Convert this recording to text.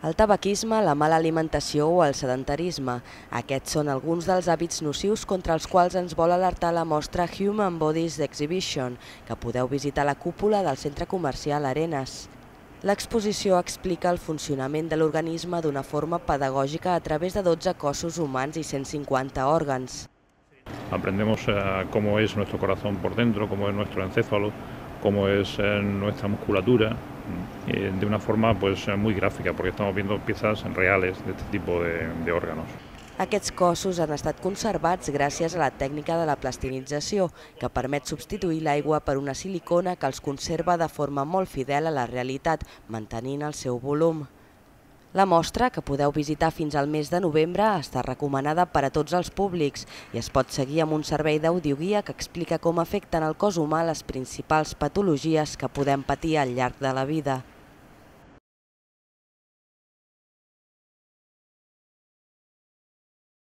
El tabaquisme, la mala alimentació o el sedentarisme. Aquests són alguns dels hàbits nocius contra els quals ens vol alertar la mostra Human Bodies Exhibition, que podeu visitar a la cúpula del centre comercial Arenas. L'exposició explica el funcionament de l'organisme d'una forma pedagògica a través de 12 cossos humans i 150 òrgans. Aprendemos cómo es nuestro corazón por dentro, cómo es nuestro encéfalo, cómo es nuestra musculatura, de una forma muy gráfica, porque estamos viendo piezas reales de este tipo de órganos. Aquests cossos han estat conservats gràcies a la tècnica de la plastinització, que permet substituir l'aigua per una silicona que els conserva de forma molt fidel a la realitat, mantenint el seu volum. La mostra, que podeu visitar fins al mes de novembre, està recomanada per a tots els públics i es pot seguir amb un servei d'audioguia que explica com afecten al cos humà les principals patologies que podem patir al llarg de la vida.